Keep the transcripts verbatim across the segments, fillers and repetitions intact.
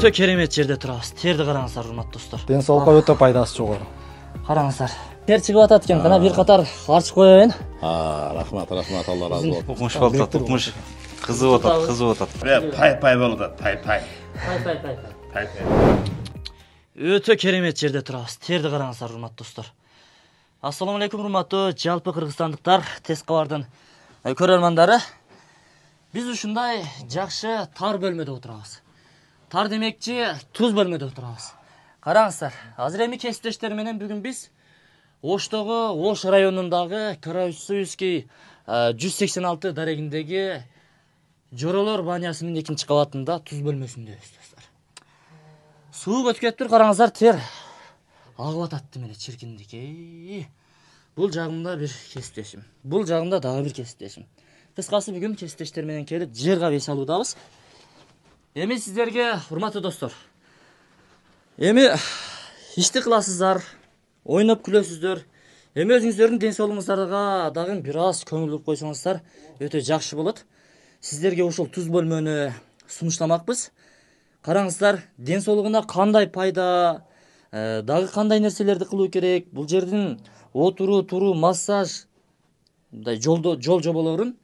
Өтө керемет жерде турабыз. Терди караңыздар, урматтуу достор. Ден соолукка өтө пайдасы жогору. Караңыздар. Тер чыгып атат экен. Кана бир катар арчып коеюн. А, рахмат, рахмат, Алла разы болсун. Укмуш болуп, укмуш. Кызып атат, кызып атат. Пай-пай болуп атат, пай-пай. Пай-пай-пай. Пай-пай. Өтө керемет жерде турабыз. Терди караңыздар, урматтуу достор. Ассаламу алейкум, урматтуу жалпы кыргызстандыктар, Тез кабардын көрөрмандары. Биз ушундай жакшы тар бөлмөдө отурабыз. Тар демекчи туз бөлмөдө отурабыз. Караңыздар, азыр эми кесиптештер менен бүгүн биз Оштогу, Ош районундагы Караусуйский жүз сексен алты дарегиндеги Жоролор банясынын экинчи кабатында туз бөлмөсүндөбүз достор. Суу өтүп кетиптир, караңыздар, тер агып атат эле чиркиндик. Бул жагымда бир кесиптешим. Бул жагымда дагы бир кесиптешим. Кыскасы бүгүн кесиптештер менен келип жер кабый салуудабыз. Эми сиздерге, урматтуу достор, эми ишти кыласыздар, ойноп күлөсүздөр. Эми өзүңүздөрдүн ден соолугуңуздарга дагы бир аз көңүл буруп койсоңуздар өтө жакшы болот. Сиздерге ушул туз бөлмөнү сунуштамакпыз. Караңыздар, ден соолугуна кандай пайда, дагы кандай нерселерди кылуу керек, бул жердин отуруу, туруу, массаж, мындай жолдо жол жоболорун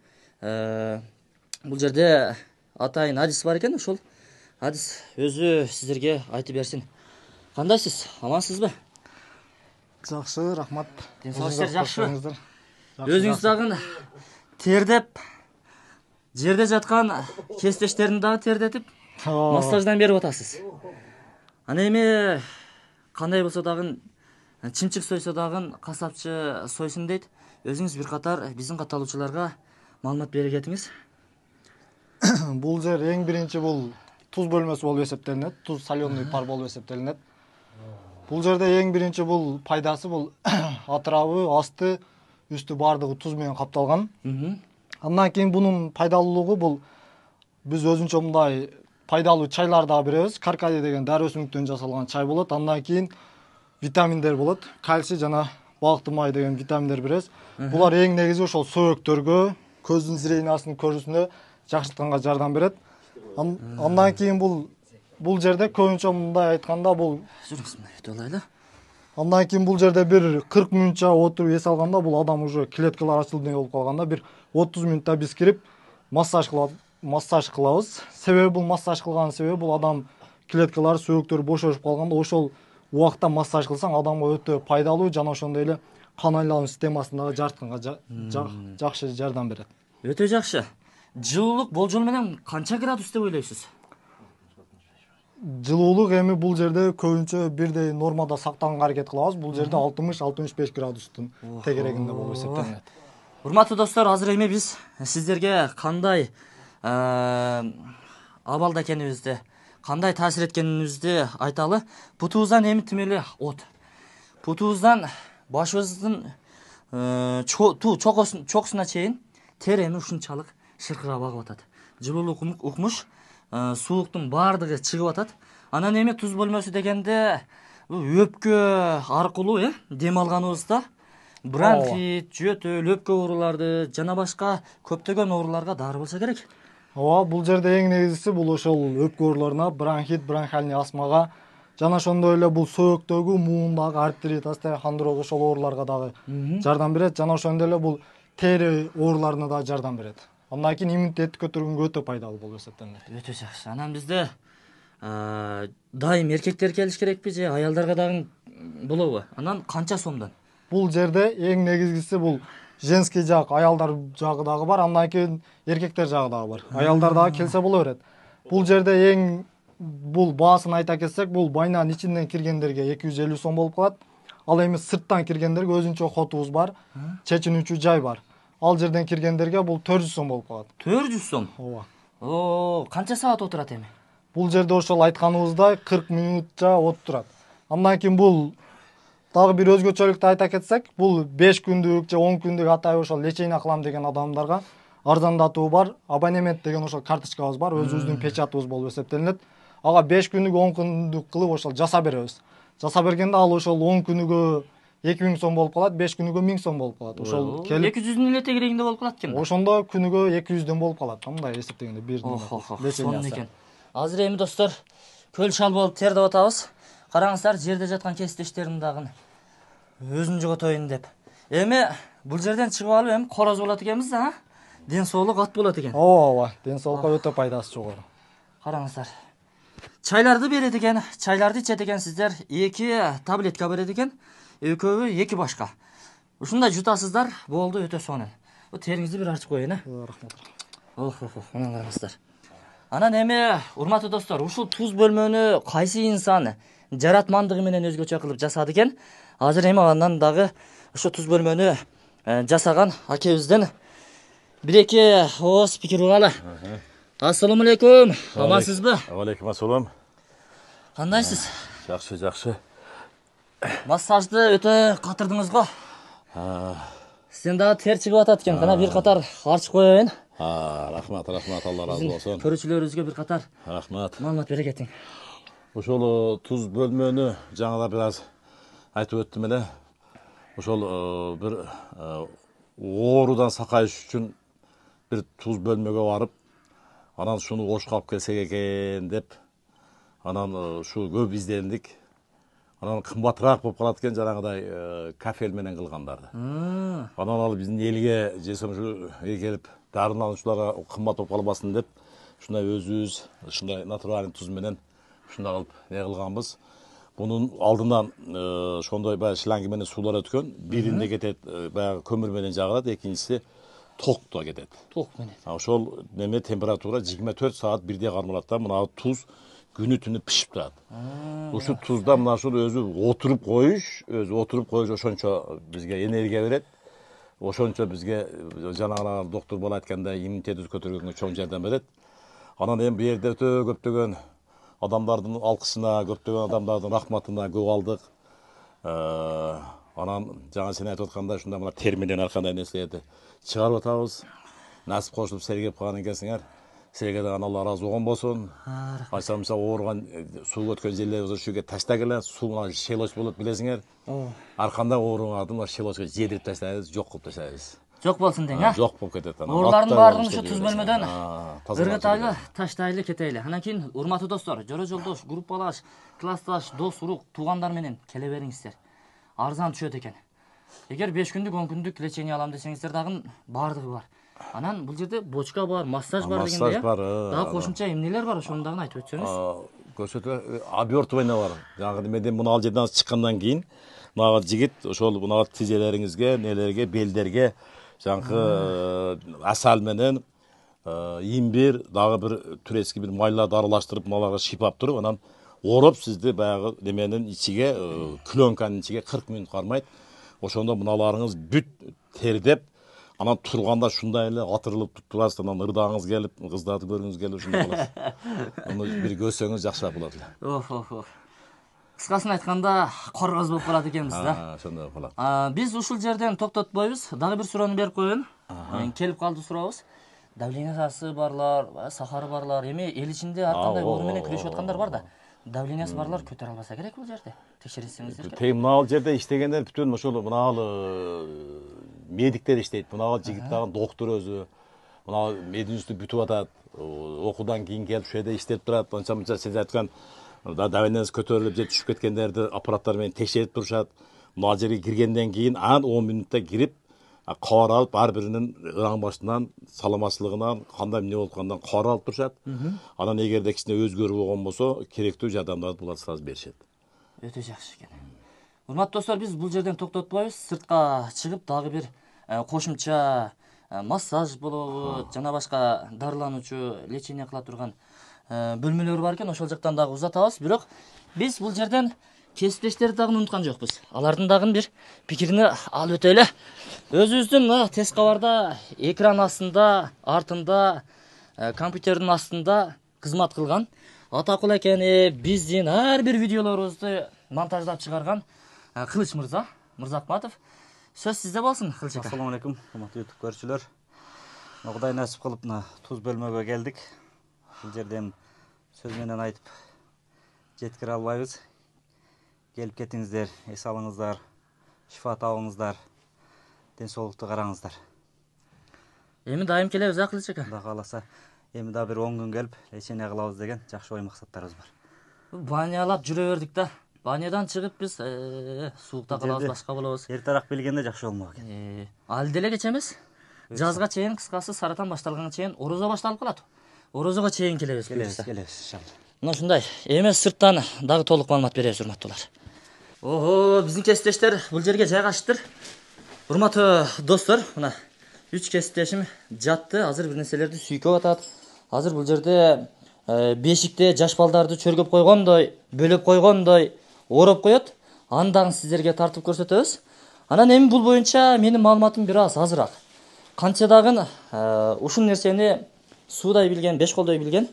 бул жерде атайын адис бар экен, ошол адис өзү сиздерге айтып берсин. Кандайсыз? Амансызбы? Жакшы, рахмат. Ден соолугуңуздар жакшыбы? Өзүңүз дагы тердеп, жерде жаткан кесиптештерин дагы тердетип, массаждан берип атасыз. Ана эми кандай болсо дагы чымчык сойсо дагы касапчы сойсун дейт. Өзүңүз бир катар биздин катталуучуларга маалымат бере кетиңиз. Бул жер эң биринчи бул туз бөлмөсү болуп эсептелинет, туз соленый пар болуп эсептелинет. Бул жерде эң биринчи бул пайдасы бул атырабы, асты, үстү бардыгы туз менен капталган. Андан кийин бунун пайдалуулугу бул биз өзүнчө мындай пайдалуу чайлар дагы беребиз. Каркади деген дары өсүмдүктөн жасалган чай болот. Андан кийин витаминдер болот. Кальций жана балыктын май деген витаминдер беребиз. Булар эң негизи ошол сөөгктөргө, көздүн зрениясынын көрүүсүнө жакшыртканга жардам берет. Андан кийин бул бул жерде көбүнчө мындай айтканда бул жүрүңүз мына өтө алайлы. Андан кийин бул жерде бир кырк мүнөтчө отуруп эс алганда бул адам уже клеткалар ачылды болуп калганда бир отуз мүнөттө биз кирип массаж кылып массаж кылабыз. Себеби бул массаж кылганын себеби бул адам клеткалары, сөөгктөрү бошошуп калганда ошол убакта массаж кылсаң адамга өтө пайдалуу жана ошондой эле кан айлануу системасындагы жартканга жакшы жардам берет. Өтө жакшы. Жылуулук болжол менен канча градус деп ойлойсуз? Жылуулук эми бул жерде көбүнчө бирдей нормада сактаганга аракет кылабыз. Бул жерде алтымыш алтымыш беш градустун тегерегинде болуп эсептелинет. Урматтуу достор, азыр эми биз сиздерге кандай абалда экенибизди, кандай таасир эткенибизди айталы. Бутубуздан эми тим эле от. Бутубуздан башыбыздын чокусуна чейин тер эми ушунчалык шыркырап агып атат. Жылуулук укмуш, суулуктун баардыгы чыгып атат. Анан эми туз бөлмөсү дегенде өпкө аркылуу э дем алганыбызда бронхит, жөтөл, өпкө ооруларды жана башка көптөгөн ооруларга дары болсо керек. Ооба, бул жерде эң негизгиси бул ошол өпкө ооруларына, бронхит, бронхиальный астмага жана ошондой эле бул сөөктөгү, муундагы артрит, остеохондроз ошол ооруларга дагы жардам берет. Жана ошондой эле бул тери ооруларына дагы жардам берет. Андан кийин иммунитетти көтөргөнгө өтө пайдалуу болуп эсептелинет. Өтө жакшы. Анан бизде дайым эркектер келиш керекпи же аялдарга дагы болобу? Анан канча сомдон? Бул жерде эң негизгиси бул женский жак, аялдар жагы дагы бар, андан кийин эркектер жагы дагы бар. Аялдар дагы келсе боло берет. Бул жерде эң бул баасын айта кетсек, бул байнанын ичинден киргендерге эки жүз элүү сом болуп калат. Ал эми сырттан киргендерге өзүнчө хотубуз бар, чечинүүчү жай бар. Ал жерден киргендерге бул төрт жүз сом болуп калат. төрт жүз сом? Ооба. О, канча саат отурат эми? Бул жерде ошол айтканыбыздай кырк мүнөтчө отурат. Андан кийин бул дагы бир өзгөчөлүктү айта кетсек, бул беш күндүк же он күндүк атайын ошол лечение кылам деген адамдарга арзандатуу бар. Абонемент деген ошол карточкабыз бар, өзүбүздүн печатыбыз болуп эсептелинет. Ага беш күндүк, он күндүк кылып ошол жаса беребиз. Жаса бергенде ал ошол он күнүгө эки миң сом болуп калат, беш күнүгө миң сом болуп калат. Ошол келип эки жүздүн эле тегерегинде болуп калат экен. Ошондо күнүгө эки жүздөн болуп калат. Мындай эсептегенде бир сонун экен. Азыр эми достор, көл шал болуп тердеп атабыз. Караңыздар, жерде жаткан кесиптештерим дагы өзүн жоготоюн деп. Эми бул жерден чыгып алып эми короз болот экенбиз да, ден соолук ат болот экен. ооба, ден соолукка өтө пайдасы жогору. Караңыздар. Чайларды берет экен, чайларды ичет экенсиздер. эки таблетка берет экен. Экөөбү эки башка. Ушундай жутасыздар, болду, өтө сонун. Бу териңизди бир ачып коеюн, а? Рахмат. Ох, ох, ох, мына караңыздар. Анан эми, урматтуу достор, ушул туз бөлмөнү кайсы инсан жаратмандыгы менен өзгөчө кылып жасады экен? Азыр эми андан дагы ошо туз бөлмөнү жасаган акебизден бир-эки ооз пикир угалы. Ассаламу алейкум. Амансызбы? Алейкум ассалам. Кандайсыз? Жакшы, жакшы. Массажды өтө катырдыңыз го. Сен дагы тер чыгып атат экен. Кана бир катар арчып коеюн. А, рахмат, рахмат, Алла разы болсун. Көрүүчүлөрүбүзгө бир катар Рахмат. маалымат бере кетиң. Ошол туз бөлмөнү жаңылар бир аз айтып өттүм эле. Ошол бир оорудан сакайыш үчүн бир туз бөлмөгө барып, анан шуну ошко алып келсек экен деп, анан ушу көп издендик. Анан кымбатыраак болуп калат экен жанагыдай кафель менен кылгандарды. Анан ал биздин элге жесем ушу келип дарылануучуларга кымбат болуп калбасын деп, ушундай өзүбүз ушундай натуральный туз менен ушундай кылып не кылганбыз. Бунун алдынан ошондой баягы шланги менен суулар өткөн. Биринде кетет баягы көмүр менен жагылат, экинчиси токто кетет. Ток менен. Ошол неме температура жыйырма төрт саат бирдей кармалат да, мына туз күнү түнү пишип турат. Ушу тузда мына ушул өзү отуруп коюш, өзү отуруп коюш ошончо бизге энергия берет. Ошончо бизге жанагы доктор бала айткандай иммунитетибизди көтөргөнгө чоң жардам берет. Анан эми бу жерде өтө көптөгөн адамдардын алкышына, көптөгөн адамдардын рахматына көп алдык. Анан жаңа сен айтып аткандай ушундай мына тер менен ар кандай нерселерди чыгарып атабыз. Насип кошулуп сергеп калган экенсиңер. Силерге дагы Алла разы болгон болсун. Айсам мисалы ооруган суу өткөн жерлерибиз ушуга таштагыла, суу мына шелоч болот билесиңер. Ар кандай ооругарды мына шелочко жедирип таштайбыз, жок кылып таштайбыз. Жок болсун дең, а? Жок болуп кетет анан. Оорулардын баардыгын ушу туз бөлмөдөн ыргытайлы, таштайлы кетели. Анан кийин урматтуу достор, жора жолдош, группалаш, классташ, дос, урук, туугандар менен келе бериңиздер. Арзан түшөт экен. Эгер беш күндүк, он күндүк лечение алам десеңиздер дагы баардыгы бар. Анан бул жерде бочка бар, массаж бар дегенде. Массаж бар. Дагы кошумча эмнелер бар, ошону дагы айтып өтсөңүз. Көрсөтө обертывание бар. Жаңы менден муну ал жерден чыккандан кийин мага жигит ошол мына тизелериңизге, нелерге, белдерге жаңкы асал менен имбир, дагы бир турецкий бир майларды аралаштырып маларга шипап туруп, анан ороп сизди баягы неменин ичиге, пленканын ичиге кырк мүнөт кармайт. Ошондо мыналарыңыз бүт тердеп, анан турганда ушундай эле атырылып турасыз, анан ырдагыңыз келип, кыздарды көргүңүз келип ушундай каласыз. Муну бир көрсөңүз жакшыраак болот эле. Ох, ох, ох. Кыскасын айтканда, короз болуп калат экенбиз да. Ошондой болуп калат. Биз ушул жерден токтотпойбуз. Дагы бир суроону берип коеюн. Келип калды сурообуз. Давлениясы барлар, сахары барлар, эми эл ичинде ар кандай оору менен күрөшүп аткандар бар да. Давлениясы барлар көтөрө албаса керек бул жерде. Текшерсеңиздер. Тем мына жерде иштегендер бүтүн ошол мына медиктер иштейт. Мына жигит дагы доктор өзү. Мына мединститутты бүтүп атат. Окуудан кийин келип ушул жерде иштеп турат. Анча-мынча сиз айткан давлениясы көтөрүлүп же түшүп кеткендерди аппараттар менен текшерип турушат. Мына жерге киргенден кийин анан он мүнөттө кирип, кабар алып ар биринин ыран башынан, саламатчылыгынан, кандай эмне болуп аткандан кабар алып турушат. Анан эгерде кичине өзгөрүү болгон болсо, керектүү жардамдарды булар сразу беришет. Өтө жакшы экен. Урматтуу достор, биз бул жерден токтотпойбуз. Сыртка чыгып дагы бир кошумча массаж болобу, жана башка дарылануучу, лечение кыла турган бөлмөлөр бар экен. Ошол жактан дагы узатабыз. Бирок биз бул жерден кесиптештерди дагы унуткан жокпуз. Алардын дагы бир пикирин алып өтөлү. Өзүбүздүн тест кабарда экран астында, артында, компьютердин астында кызмат кылган атакул экени биздин ар бир видеолорубузду монтаждап чыгарган Кылыч мырза, Мырзакматов. Сөз сизде болсун, Кылыч ака. Ассаламу алейкум, урматтуу YouTube көрүүчүлөр. Кудай насип кылып мына туз бөлмөгө келдик. Бул жерден сөз менен айтып жеткире албайбыз. Келип кетиңиздер, эс алыңыздар, шифа табыңыздар, ден соолукту караңыздар. Эми дайым келебиз, Кылыч ака. Кудай кааласа, эми да бир он күн келип, лечение кылабыз деген жакшы ой максаттарыбыз бар. банялап жүрө бердик да. Банядан чыгып биз суукта калабыз, башка болобуз. Эртерээк билгенде жакшы болмок экен. Э, ал деле кеч эмес. Жазга чейин, кыскасы саратан башталганга чейин орозо башталып калат. Орозого чейин келебиз. Келебиз, келебиз иншалла. Мына ушундай. Эми сырттан дагы толук маалымат беребиз, урматтуулар. Ого, биздин кесиптештер бул жерге жайгашыптыр. Урматтуу достор, мына үч кесиптешим жатты. Азыр бир нерселерди сүйкөп атат. Азыр бул жерде бешикте жаш балдарды чөргөп койгондой, бөлөп койгондой ороп коет. Андан сиздерге тартып көрсөтөбүз. Анан эми бул боюнча менин маалыматым бир аз азыраак. Канча дагы ушул нерсени суудай билген, беш колдой билген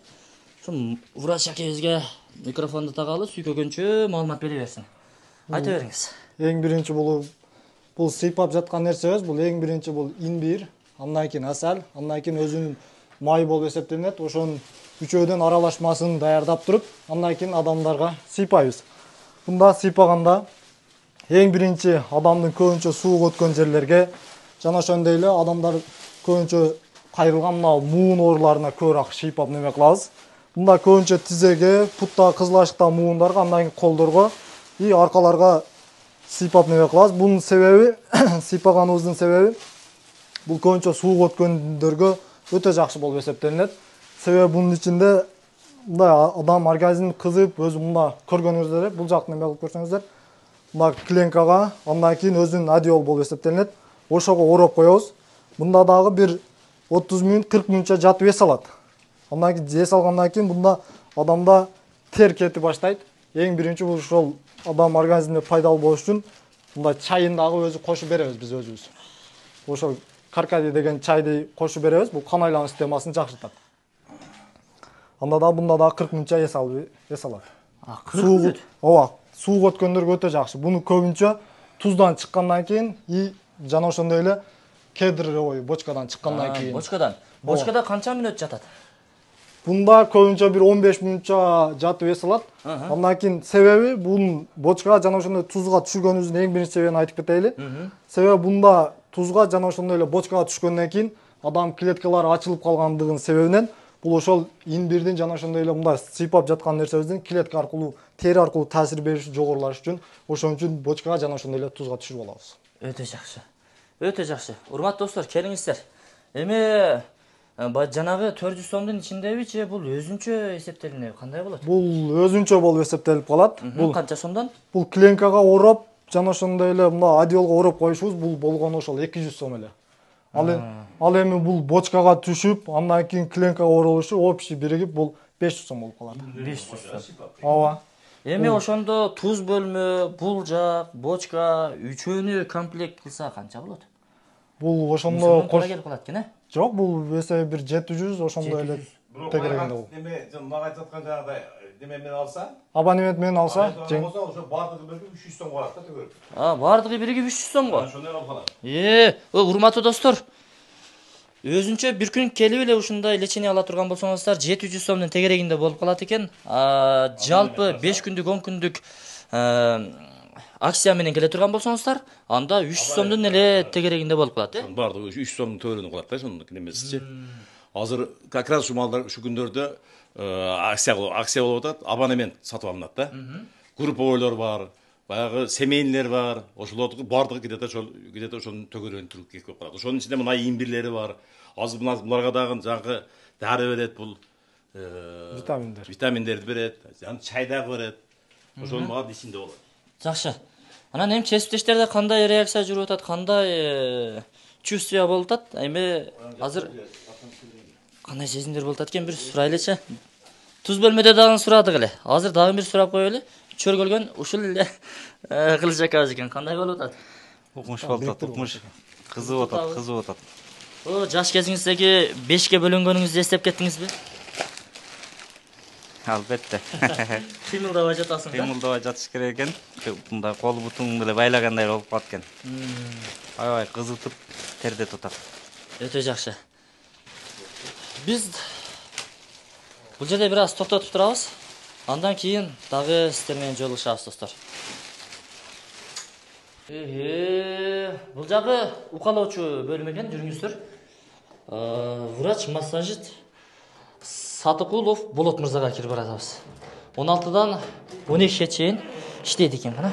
ушу врач акебизге микрофонду тагалы, сүйкөгөнчө маалымат бере берсин. Айта бериңиз. Эң биринчи бул бул сыйпап жаткан нерсе эмес, бул эң биринчи бул имбир, андан кийин асал, андан кийин өзүнүн май болуп эсептелинет. Ошонун үчөөдөн аралашмасын даярдап туруп, андан кийин адамдарга сыйпайбыз. Мында сыйпаганда эң биринчи адамдын көбүнчө сууга өткөн жерлерге жана ошондой эле адамдар көбүнчө кайрылган мына муун ооруларына көбүрөөк сыйпап неме кылабыз. Мында көбүнчө тизеге, путта, кызыл ашыкта муундарга, андан кийин колдорго и аркаларга сыйпап неме кылабыз. Бунун себеби, сыйпаганыбыздын себеби бул көбүнчө сууга өткөндөргө өтө жакшы болуп эсептелинет. Себеби бунун ичинде мындай адам организми кызып, өзү мында көргөнүңүздөр, бул жакты неме кылып көрсөңүздөр, мына кленкага, андан кийин өзүнүн одеол болуп эсептелинет. Ошого ороп коебуз. Мында дагы бир отуз мүнөт, кырк мүнөтчө жатып эс алат. Андан кийин эс алгандан кийин мында адамда тер кете баштайт. Эң биринчи бул ошол адам организмине пайдалуу болуш үчүн мында чайын дагы өзү кошуп беребиз биз өзүбүз. Ошол каркади деген чайды кошуп беребиз. Бул кан айлануу системасын жакшыртат. Анда да бунда да кырк мүнөтчө эс алып эс алат. А, кырк мүнөт? Ооба, сууга өткөндөргө өтө жакшы. Буну көбүнчө туздан чыккандан кийин и жана ошондой эле кедровый бочкадан чыккандан кийин. Бочкадан. Бочкада канча мүнөт жатат? Бунда көбүнчө бир он беш мүнөтчө жатып эс алат. Андан кийин себеби бунун бочкага жана ошондой тузга түшүргөнүбүздүн эң биринчи себебин айтып кетейли. Себеби бунда тузга жана ошондой эле бочкага түшкөндөн кийин адам клеткалары ачылып калгандыгынын себебинен бул ошол имбирдин жана ошондой эле мындай сыйпап жаткан нерсебиздин клетка аркылуу, тери аркылуу таасир бериши жогорулаш үчүн ошон үчүн бочкага жана ошондой эле тузга түшүрүп алабыз. Өтө жакшы. Өтө жакшы. Урматтуу достор, келиңиздер. Эми жанагы төрт жүз сомдун ичиндеби же бул өзүнчө эсептелинеби? Кандай болот? Бул өзүнчө болуп эсептелип калат. Бул канча сомдон? Бул кленкага ороп, жана ошондой эле мына одеолго ороп коюшубуз бул болгону ошол эки жүз сом эле. Ал ал эми бул бочкага түшүп, андан кийин кленкага оролушу общий биригип бул беш жүз сом болуп калат. беш жүз сом. Ооба. Эми ошондо туз бөлмө, бул жак, бочка, үчөөнү комплект кылса канча болот? Бул ошондо кош келип калат экен, э? Жок, бул эсеби бир жети жүз ошондой эле тегерегинде бул. Эме мага айтып аткан жанагыдай неме менен алса, абонемент менен алса, жең ошо бардыгы бирге үч жүз сомго алат да төгөр. А, бардыгы бирге үч жүз сомго. Ошондой алып калат. Э, урматтуу достор. Өзүнчө бир күн келип эле ушундай лечение ала турган болсоңуздар, жети жүз сомдун тегерегинде болуп калат экен. А, жалпы беш күндүк, он күндүк акция менен келе турган болсоңуздар, анда үч жүз сомдун эле тегерегинде болуп калат, э? Бардыгы үч жүз сомдун төбөлүнө калат да, ошондун немесичи. Азыр как раз ушул малдар ушу күндөрдө акция акция болуп атат, абонемент сатып алынат да. Групповойлор бар, баягы семейнийлер бар, ошолордун бардыгы где-то ошол где-то ошонун төгөрөгүн туруп келип калат. Ошонун ичинде мына имбирлери бар. Азыр буларга дагы жаңгы дары берет, бул витаминдер. Витаминдерди берет, жана чай дагы берет. Ошонун баары ичинде болот. Жакшы. Анан эми кесиптештерде кандай реакция жүрүп атат, кандай чувствие болуп атат? Эми азыр кандай сезимдер болуп атат экен, бир сурайлычы. Туз бөлмөдө дагы сурадык эле. Азыр дагы бир сурап коелу. Чөргөлгөн ушул эле кылыч акабыз экен. Кандай болуп атат? Укмуш болуп атат, укмуш. Кызып атат, кызып атат. О, жаш кезиңиздеги бешке бөлөнгөнүңүздү эстеп кеттиңизби? Албетте. Кыймылдабай жатасың да? Кыймылдабай жатыш керек экен. Мындай кол бутуңду эле байлагандай болуп калат экен. Аябай кызытып, терде тутат. Өтө жакшы. Биз бул жерде бир аз токтотуп турабыз. Андан кийин дагы сиздер менен жолугушабыз, достор. Э, бул жагы укалоочу бөлүм экен, жүрүңүздөр. Врач массажист Сатыкулов Болот мырзага кирип баратабыз. он алтыдан он экиге чейин иштейт экен. Кана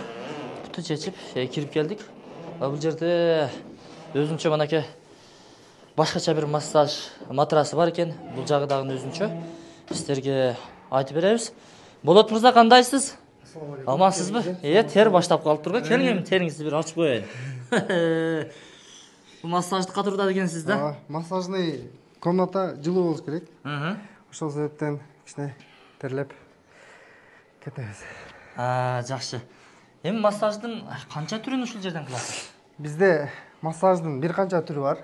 буту чечип кирип келдик. Бул жерде өзүнчө манаке башкача бир массаж матрасы бар экен. Бул жагы дагы өзүнчө. Сиздерге айтып беребиз. Болот мырза, кандайсыз? Амансызбы? Э, тер баштап калып турга. Келиңем, териңизди бир ачып коеюн. Бул массажды катурда дегенсиз да? Массажный комната жылуу болуш керек. Ошол себептен кичине терлеп кетебиз. А, жакшы. Эми массаждын канча түрүн ушул жерден кыласыз? Бизде массаждын бир канча түрү бар.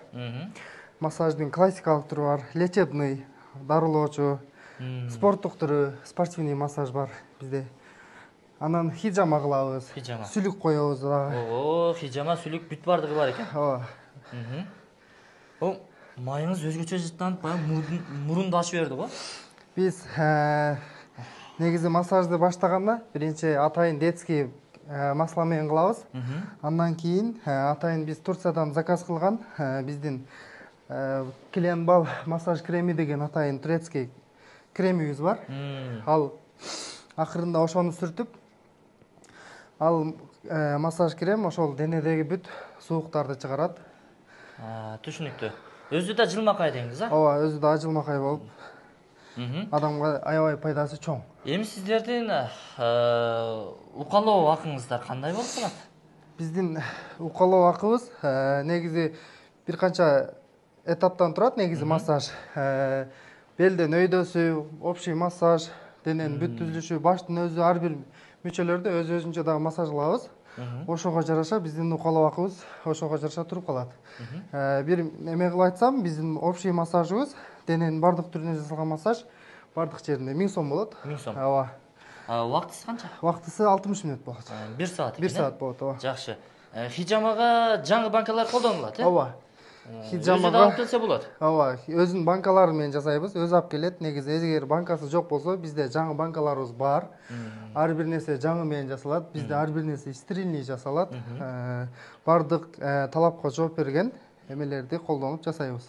Массаждын классикалык түрү бар, лечебный, дарылоочу, спорттук түрү, спортивный массаж бар бизде. Анан хижама кылабыз. Хижама. Сүлүк коебуз дагы. Ого, хижама, сүлүк бүт бардыгы бар экен. Ооба. О, майыңыз өзгөчө жыттанып, баягы мурунду ачып берди го. Биз негизи массажды баштаганда биринчи атайын детский масла менен кылабыз. Андан кийин атайын биз Турциядан заказ кылган биздин Клембал массаж креми деген атайын турецкий кремибиз бар. Ал акырында ошону сүртүп, ал массаж крем ошол денедеги бүт сууктарды чыгарат. Түшүнүктүү. Өзү да жылмакай деңиз, а? Ооба, өзү да жылмакай болуп, адамга аябай пайдасы чоң. Эми сиздердин укалоо акыңыздар кандай болуп калат? Биздин укалоо акыбыз негизи бир канча этаптан турат. Негизи массаж белден өйдөсү, общий массаж, дененин бүт түзүлүшү, баштын өзү, ар бир мүчөлөрдө өз өзүнчө дагы массаж кылабыз. Ошого жараша биздин укалоо акыбыз ошого жараша туруп калат. Бир эме кылып айтсам, биздин общий массажыбыз, дененин бардык түрүнө жасалган массаж бардык жеринде миң сом болот. миң сом. Ооба. Убактысы канча? Убактысы алтымыш мүнөт болот. бир саат. бир саат болот, ооба. Жакшы. Хижамага жаңы банкалар колдонулат, э? Ооба. Хижамага алып келсе болот. Ооба, өзүнүн банкалары менен жасайбыз, өзү алып келет. Негизи эгер банкасы жок болсо, бизде жаңы банкаларыбыз бар. Ар бир нерсе жаңы менен жасалат. Бизде ар бир нерсе стерильный жасалат. Бардык талапка жооп берген эмелерди колдонуп жасайбыз.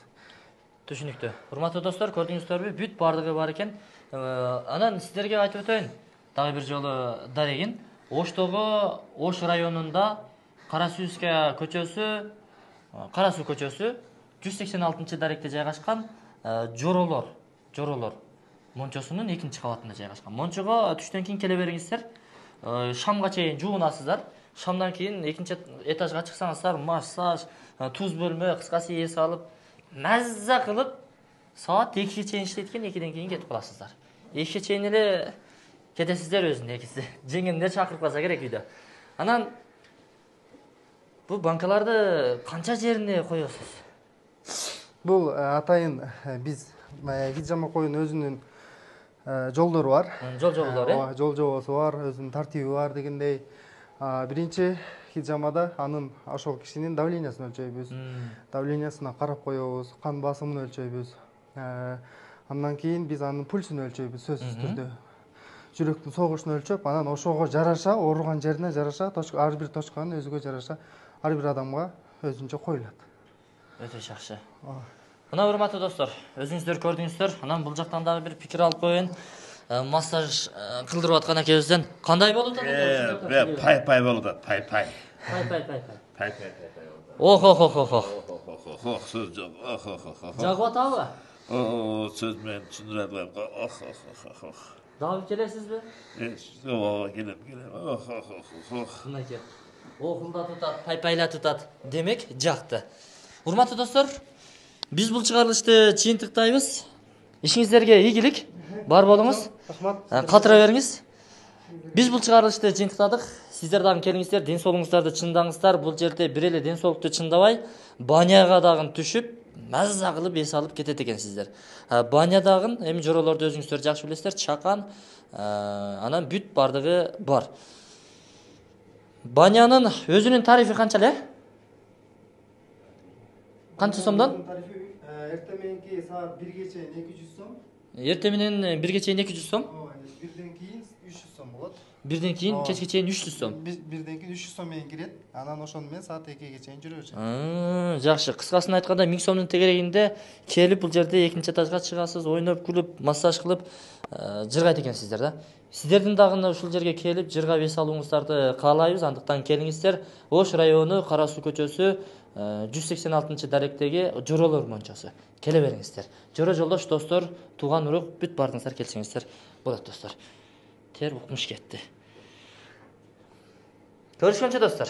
Түшүнүктүү. Урматтуу достор, көрдүңүздөрбү? Бүт бардыгы бар экен. Анан сиздерге айтып өтөйүн. Дагы бир жолу дарегин. Оштогу Ош районунда Кара Сүүская көчөсү, Кара Суу көчөсү жүз сексен алтынчы даректе жайгашкан Жоролор, Жоролор мончосунун экинчи кабатында жайгашкан. Мончого түштөн кийин келе бериңиздер. Шамга чейин жуунасыздар. Шамдан кийин экинчи этажга чыксаңыздар, массаж, туз бөлмө, кыскасы эс алып, мазза кылып, саат экиге чейин иштейт экен, экиден кийин кетип каласыздар. экиге чейин эле кетесиздер өзүнүн экиси. Жеңгемдер чакырып калса керек үйдө. Анан бул банкаларды канча жерине коесуз? Бул атайын биз хижама коюнун өзүнүн жолдору бар. Жол жоболору, э? Ооба, жол жобосу бар, өзүнүн тартиби бар дегендей. Биринчи хижамада анын ошол кишинин давлениясын өлчөйбүз. Давлениясына карап коебуз, кан басымын өлчөйбүз. Андан кийин биз анын пульсун өлчөйбүз сөзсүз түрдө. Жүрөктүн согушун өлчөп, анан ошого жараша, ооруган жерине жараша, ар бир точканын өзүгө жараша ар бир адамга өзүнчө коюлат. Өтө жакшы. Мына урматтуу достор, өзүңүздөр көрдүңүздөр. Анан бул жактан дагы бир пикир алып коеюн. Массаж кылдырып аткан экебизден кандай болуп атат? Э, пай-пай болуп атат, пай-пай. Пай-пай-пай. Пай-пай-пай. Ох, ох, ох, ох. Ох, сөз жок. Ох, ох, ох. Жагып атабы? О, сөз менен түшүндүрө албайм. Ох, ох, ох. Дагы келесизби? О, келем, келем. Ох, ох, ох. Мынакей. Окулда тутат, пай-пайла тутат. Демек, жакты. Урматтуу достор, биз бул чыгарылышты чыйынтыктайбыз. Ишиңиздерге ийгилик. Бар болуңуз. Рахмат. Катыра бериңиз. Биз бул чыгарылышты чыйынтыктадык. Сиздер дагы келиңиздер, ден соолугуңуздарды чындаңыздар. Бул жерде бир эле ден соолукту чындабай, баняга дагы түшүп, маза кылып эс алып кетет экенсиздер. Баня дагы эми жоролорду өзүңүздөр жакшы билесиздер, чакан, анан бүт бардыгы бар. Банянын өзүнүн тарифи канча эле? Канча сомдон? Эртең мененки саат бирге чейин эки жүз сом. Эртең менен бирге чейин эки жүз сом. Ооба, бирден кийин үч жүз сом болот. бирден кийин Ооба. кечке чейин үч жүз сом. Биз бирден кийин үч жүз сом менен кирет. Анан ошону менен саат экиге чейин жүрө берет. Жакшы. Кыскасын айтканда миң сомдун тегерегинде келип бул жерде экинчи этажга чыгасыз, ойноп, күлүп, массаж кылып жыргайт экенсиздер да. Сиздердин дагы ушул жерге келип жыргап эс алууңуздарды каалайбыз. Андыктан келиңиздер. Ош району Кара Суу көчөсү жүз сексен алтынчы даректеги Жоролор мончосу. Келе бериңиздер. Жора жолдош достор, тууган урук бүт бардыңыздар, келсеңиздер болот достор. Тер укмуш кетти. Көрүшкөнчө достор.